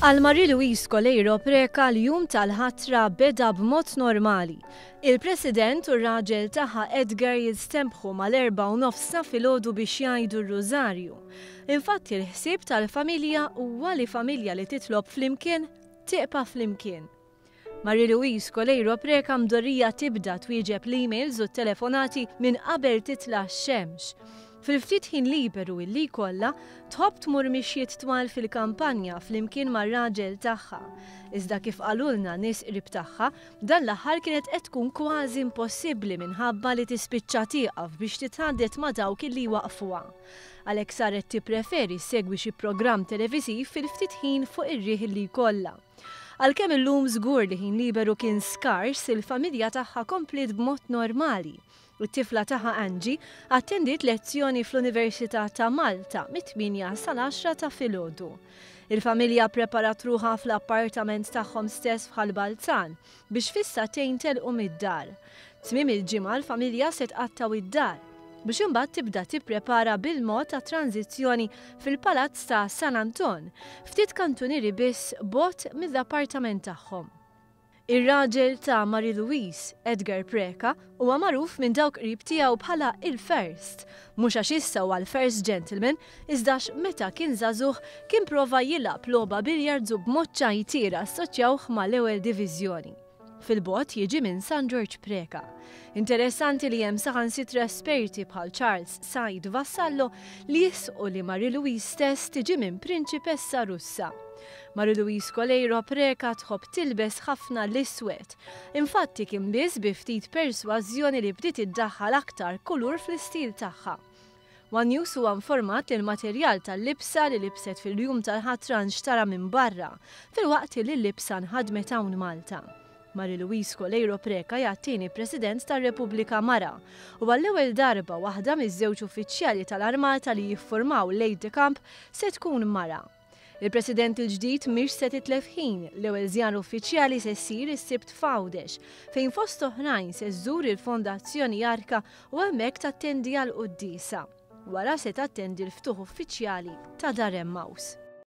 Għal Marie-Louise Coleiro Preca l-jum tal-ħatra beda b'mod normali. Il-President u r-raġel tagħha Edgar jistenbħu mal-4:30 ta' filgħodu biex jgħidu r-rużarju. Infatti l-ħsieb tal-familja huwa li familja li titlob flimkien tibqa' flimkien. Marie-Louise Coleiro Preca mdorrija tibda twieġeb l-emails u t-telefonati minn qabel titla' x-xemx. Fil-ftit ħin liberu illi jkollha, tħobb tmur mixjiet twal fil-kampanja flimkien mar-raġel tagħha. Iżda kif qalulna nies qrib tagħha, dan l-aħħar kienet qed tkun kważi impossibbli minħabba li tispiċċa tieqaf biex titħaddet ma' dawk illi jwaqqfuha. Għalhekk saret tippreferi ssegwi xi programm televiżiv fil-ftit ħin fuq ir-riħ illi jkollha. Għalkemm illum żgur li ħin liberu kien skars, il-familja tagħha kompliet b'mod normali. It-tifla tagħha Angie attendiet lezzjoni fl-Università ta' Malta mit-8 sal-10 ta' filgħodu. Il-familja ppreparat ruħha fl-appartament tagħhom stess f'Ħal Balzan biex fis-sagħtejn telqu mid-dar. Tmiem il-ġimgħa l-familja se tqattgħu id-dar biex imbagħad tibda tipprepara bil-mod għat-tranżizzjoni fil-Palazz ta' San Anton, ftit kantunieri biss bogħod mill-appartament tagħhom. Ir-raġel ta' Marie-Louise, Edgar Preca, huwa magħruf minn dawk qrib tiegħu bħala il-First, mhux għax issa huwa l-First Gentleman, iżda għax meta kien żagħżugħ kien prova jilgħab logħba billiards u b'mod ċajtier assoċjawh mal-ewwel diviżjoni. Fil-bogħod jiġi minn San Ġorġ Preca. Interessanti li hemm saħansitra esperti bħal Charles Said Vassallo li jisqu li Marie-Louise stess tiġi minn prinċipessa Russa. Marie-Louise Coleiro Preca tħobb tilbes ħafna l-iswed. Infatti kien biss bi ftit persważjoni li bdiet iddaħħal aktar kulur fl-istil tagħha. One News huwa informat li l-materjal tal-libsa li libset fil-jum tal-ħatra nxtara minn barra, filwaqt li l-libsa nħadmet hawn Malta. Marie-Louise Coleiro Preca hija t-tieni President tar-Repubblika mara u għall-ewwel darba waħda miż-żewġ uffiċjali tal-Armata li jiffurmaw l-Aide de Camp se tkun mara. Il-President il-ġdid mhix se titlef ħin, l-ewwel żjara uffiċjali se ssir is-Sibt f'Għawdex, fejn fost oħrajn se żżur il-Fondazzjoni Arka u hemmhekk tattendi għal quddiesa. Wara se tattendi l-ftuħ uffiċjali ta' Dar Emmaus.